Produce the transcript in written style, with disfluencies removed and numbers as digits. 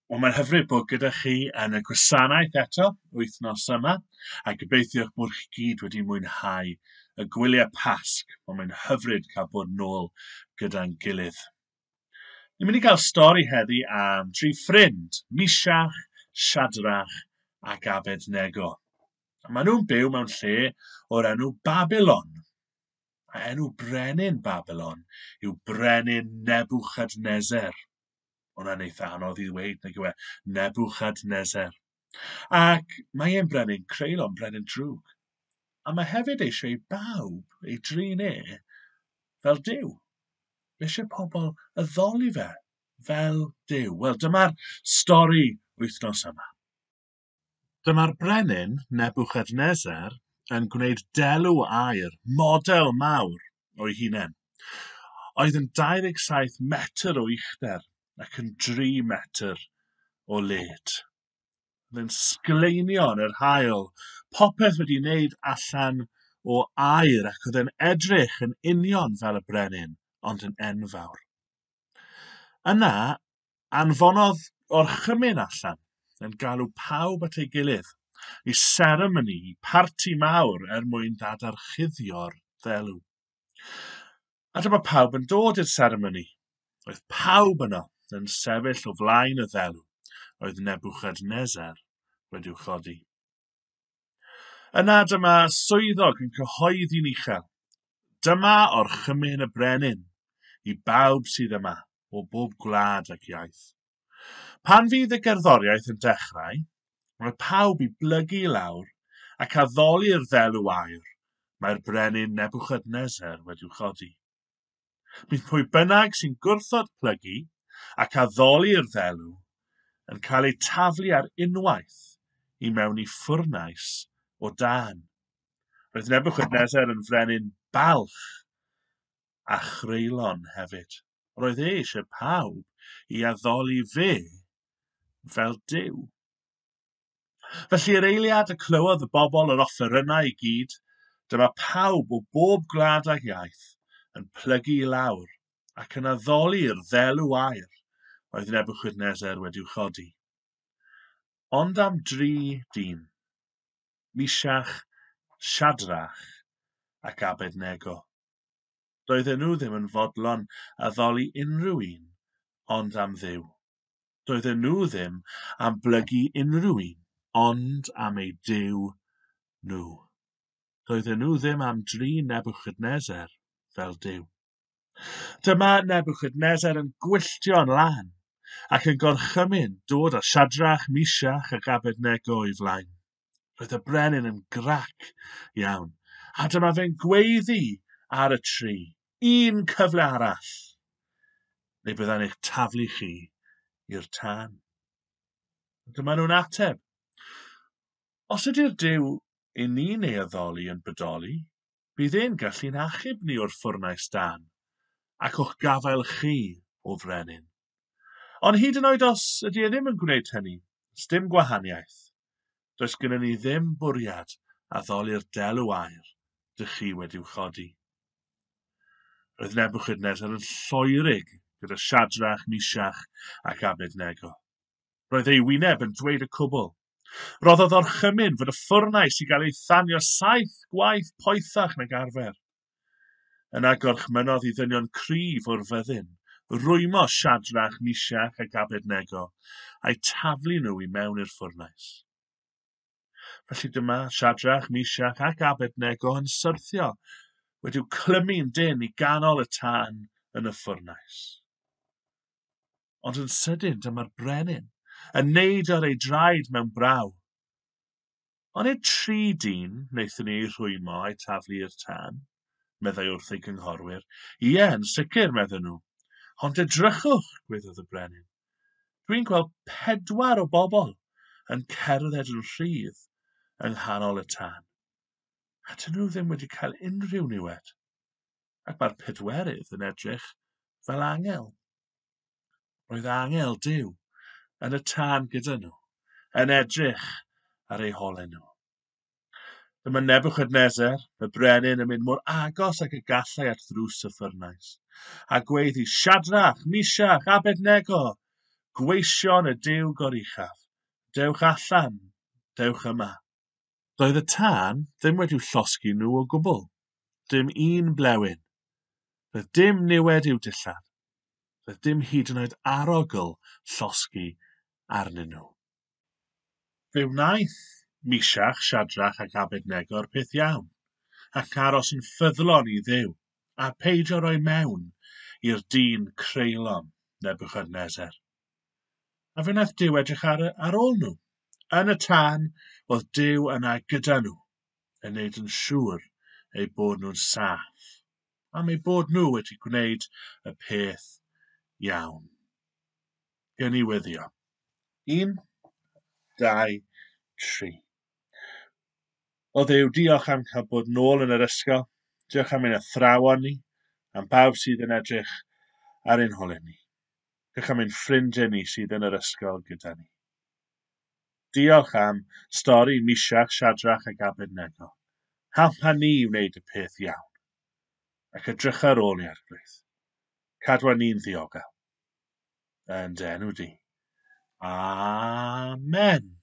Wel, mae'n hyfryd bod gyda chi yn y gwasanaeth eto wythnos yma, a gobeithio bod chi gyd wedi mwynhau y gwyliau Pasg. Wel, mae'n hyfryd cael bod nôl gyda'n gilydd. Ni'n mynd i gael stori heddi am dri ffrind, Misiach, Siadrach ac Abednego. A maen nhw'n byw mewn lle o'r enw Babylon. A enw brenin Babylon yw Brenin Nebuchadnezzar. Hwnna'n eitha anodd i ddweud, nag yw e? Nebuchadnezzar. Ac mae e'n brenin creulon, brenin drwg. A mae hefyd eisiau i bawb ei drin e fel Duw. Mae eisiau pobl addoli fe fel Duw. Wel, dyma'r stori wythnos yma. Dyma'r brenin Nebuchadnezzar yn gwneud delw aur, model mawr o'i hunain, oedd yn 27 metr o uchder ac yn 3 metr o led. Oedd yn sgleinio yn yr haul, popeth wedi wneud allan o aur ac oedd yn edrych yn union fel y brenin, ond yn enfawr. Yna, anfonodd orchymyn allan yn galw pawb at ei gilydd i seremoni, i parti mawr er mwyn dadarchuddio'r ddelw. A dyma pawb yn dod i'r seremoni. Roedd pawb yno yn sefyll o flaen y ddelw oedd Nebuchadnezzar wedi'w chodi. Yna dyma swyddog yn cyhoeddi'n uchel. Dyma orchymyn y brenin i bawb sydd yma o bob gwlad ac iaith. Pan fydd y gerddoriaeth yn dechrau, mae pawb i blygu i lawr ac addoli'r ddelw aur mae'r brenin Nebuchadnezzar wedi'w chodi. Bydd pwy bynnag sy'n gwrthod plygu ac addoli'r ddelw yn cael eu taflu ar unwaith i mewn i ffwrnais o dân. Roedd Nebuchadnezzar yn frenin balch a chreulon hefyd. Roedd e eisiau pawb i addoli fe fel Duw. Felly yr eiliad y clywodd y bobl yr offerynnau i gyd, dyma pawb o bob gwlad ag iaith yn plygu i lawr ac yn addoli'r ddelw aur oedd Nebuchadnezzar wedi'w chodi. Ond am dri dyn, Misiach, Siadrach ac Abednego. Doedden nhw ddim yn fodlon addoli unrhyw un ond am Dduw. Doedden nhw ddim am blygu unrhyw un ond am eu Duw nhw. Doedden nhw ddim am drin Nebuchadnezzar fel Duw. Dyma Nebuchadnezzar yn gwylltio'n lân ac yn gorchymyn dod â Siadrach, Misiach ac Abednego o'i flaen. Roedd y brenin yn grac iawn, a dyma fe'n gweiddi ar y tri, un cyfle arall, neu byddai'n eich taflu chi i'r tân. Dyma nhw'n ateb. Os ydy'r Duw i ni'n ei addoli yn bodoli, bydd e'n gallu'n achub ni o'r ffwrnais dân, ac o'ch gafael chi, o frenin. Ond hyd yn oed os ydy e ddim yn gwneud hynny, sdim gwahaniaeth. Does gennym ni ddim bwriad addoli'r delw aur dych chi wedi'w chodi. Roedd Nebuchadnezzar yn lloerig gyda Siadrach, Misiach ac Abednego. Roedd ei wyneb yn dweud y cwbl. Roddodd orchymyn fod y ffwrnais i gael ei thanio 7 gwaith poethach nag arfer. Yna gorchmynodd i ddynion cryf o'r fyddin, rwymo Siadrach, Misiach ac Abednego, a'u taflu nhw i mewn i'r ffwrnais. Felly dyma Siadrach, Misiach ac Abednego yn syrthio, wedi'w clymu'n dynn i ganol y tân yn y ffwrnais. Ond yn sydyn dyma'r brenin yn neud ar ei draed mewn braw. Ond nid tri dyn wnaethon ni eu rhwymo a'u taflu i'r tân, meddai wrth ei gynghorwyr. Ie, yn sicr, medden nhw. Ond edrychwch, gweiddodd y brenin. Dwi'n gweld 4 o bobl yn cerdded yn rhydd yng nghanol y tân. A dyn nhw ddim wedi cael unrhyw niwed. Ac mae'r pedwerydd yn edrych fel angel. Roedd angel Duw yn y tân gyda nhw, yn edrych ar eu holau nhw. Dyma Nebuchadnezzar, y brenin, yn mynd mor agos ag y gallai at ddrws y ffwrnais, a gweiddi, Siadrach, Misiach, Abednego, Gweision y Duw goruchaf, dewch allan, dewch yma. Doedd y tân ddim wedi'w llosgi nhw o gwbl, dim un blewyn. Doedd dim niwed i'w dillad. Doedd dim hyd yn oed arogl llosgi arnyn nhw. Fe wnaeth Misiach, Siadrach ac Abednego'r peth iawn, ac aros yn ffyddlon i Dduw, a peidio roi mewn i'r dyn creulon Nebuchadnezzar. A fe wnaeth Duw edrych ar ôl nhw. Yn y tân, oedd Duw yna gyda nhw, yn neud yn siŵr eu bod nhw'n saff, am eu bod nhw wedi gwneud y peth iawn. Gen i weddio. 1, 2, 3. O Dduw, diolch am cael bod nôl yn yr ysgol. Diolch am ein athrawon ni, am bawb sydd yn edrych ar ein holau ni. Diolch am ein ffrindiau ni sydd yn yr ysgol gyda ni. Diolch am stori Misiach, Siadrach ac Abednego. Helpa ni i wneud y peth iawn. Ac edrych ar ôl ni, Arglwydd. Cadwa ni'n ddiogel. Yn dy enw di. Amen.